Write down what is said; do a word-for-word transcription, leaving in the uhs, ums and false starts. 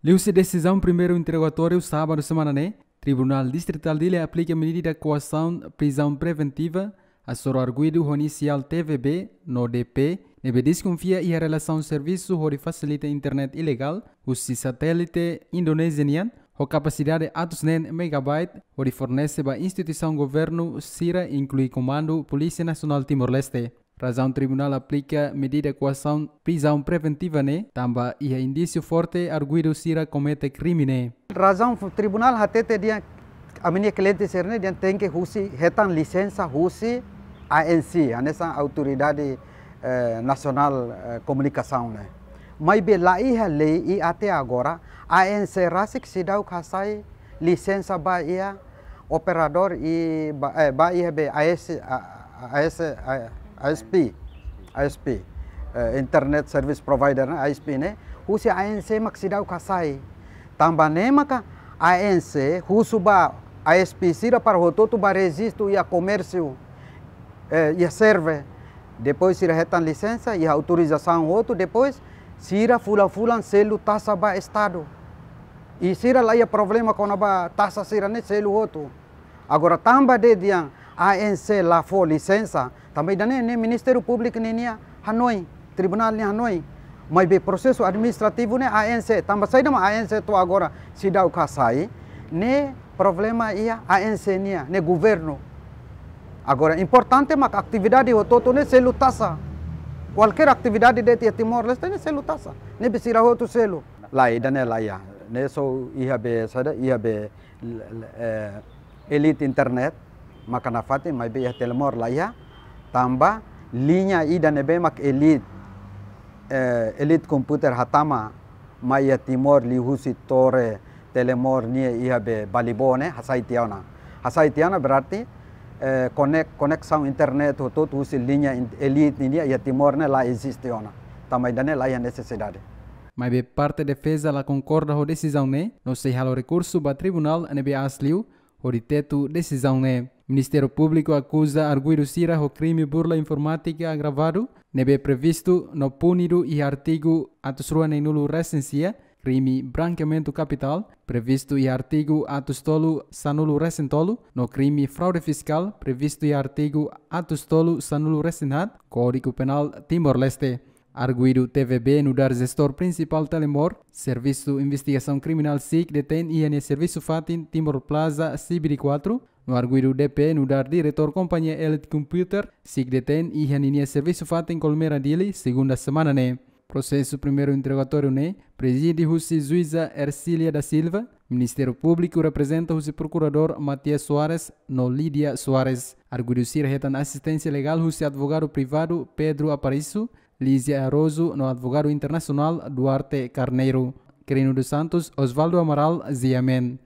Liuhusi desizaun primeiru interrogatóriu sábadu semana ne'e, Tribunál Distritál Dili aplika medida koasaun prizaun preventiva hasoru arguidu ho inisiál T V B no D P, ne'ebé deskonfia iha relasaun servisu hodi fasilita internet ilegál husi satélite Indonézia nian, ho kapasidade atus neen megabyte, hodi fornese ba instituisaun governu sira, inklui Komandu Polísia Nasionál Timor-Leste. Razaun tribunál aplika medida koasaun prizaun preventiva ne'e, tanba iha indísiu forte arguidu sira komete krime ne'e. Razaun fu-, tribunál hatete dehan ami-nia kliente sira-ne'e dehan tenke husi, hetan lisensa husi A N C, hanesan Autoridade, eh, Nasionál, eh, Komunikasaun ne'e. Maibé la iha lei i até agora A N C rasik seidauk hasai lisensa ba iha operadór i ba, eh, ba iha be A S, A, A S, A, ISP, ISP, eh, Internet Service Provider ne'e, ISP ne'e, husi A N C mak seidauk hasai. Tanba ne'e maka A N C husu ba ISP sira para hotu-hotu bá rejistu iha komérsiu, eh, iha serve. Depois sira hetan lisensa, iha autorizasaun hotu, depois sira fulan-fulan selu taxa ba Estadu. I sira la iha problema kona-ba taxa sira-ne'e selu hotu. Agora tanba dehan A N C la fó lisensa, tanba ida-ne'e, ne'e Ministériu Públiku ninia hanoin, tribunál nia hanoin. Maibé prosesu administrativu ne'e A N C, tanba saida mak A N C to'o agora seidauk hasai, ne'e problema iha A N C nian, ne'e governu. Agora importante mak atividade hotu-hotu ne'e selu taxa. Kualkér atividade de'it iha Timor-Leste ne'e selu taxa. Ne'ebé sira hotu selu. Lae, ida-ne'e la iha. Ne'e só iha be, saida, iha be, l-, l-, eh, Elite Internet maka nafatin, maibé iha Telemor la iha, tanba liña ida ne'ebé mak Elite, eh, Elite Computer hatama mai iha Timor liuhusi tore Telemor nia iha be Balibó ne'e hasai tiha ona. Hasai tiha ona berarti, eh, konek-, koneksaun internet hotu-hotu husi liña in-, Elite nian iha Timor ne'e la eziste ona. Tanba ida-ne'e la iha nesesidade. Maibé parte defeza la konkorda ho desizaun ne'e, no sei halo rekursu ba tribunál ne'ebé aas liu, hodi tetu desizaun ne'e. Ministériu Públiku akuza arguidu sira ho krime burla informátika agravadu, ne'ebé previstu no punidu iha artigu atus rua neenulu resin sia, krime brankeamentu kapitál, previstu iha artigu atus tolu sanulu resin tolu, no krime fraude fiskál, previstu iha artigu atus tolu sanulu resin haat, Kódigu Penál Timor-Leste. Arguidu T V B nu'udar jestór prinsipál Telemor, Servisu Investigasaun Kriminál SIC detein iha nia servisu fatin Timor Plaza, C B D quatro, no arguidu D P nu'udar diretór kompañia Elite Computer, SIC detein iha ninia servisu fatin Colmera Dili, segunda semana ne'e. Prosesu primeiru interrogatóriu ne'e prezide husi juíza Ercília da Silva, Ministériu Públiku reprezenta husi prokuradór Matias Soares no Lídia Soares. Arguidu sira hetan asisténsia legál husi advogadu privadu Pedro Aparício, Lízia Arroso no advogadu internasionál Duarte Carneiro. Quirino dos Santos, Osvaldo Amaral, G M N.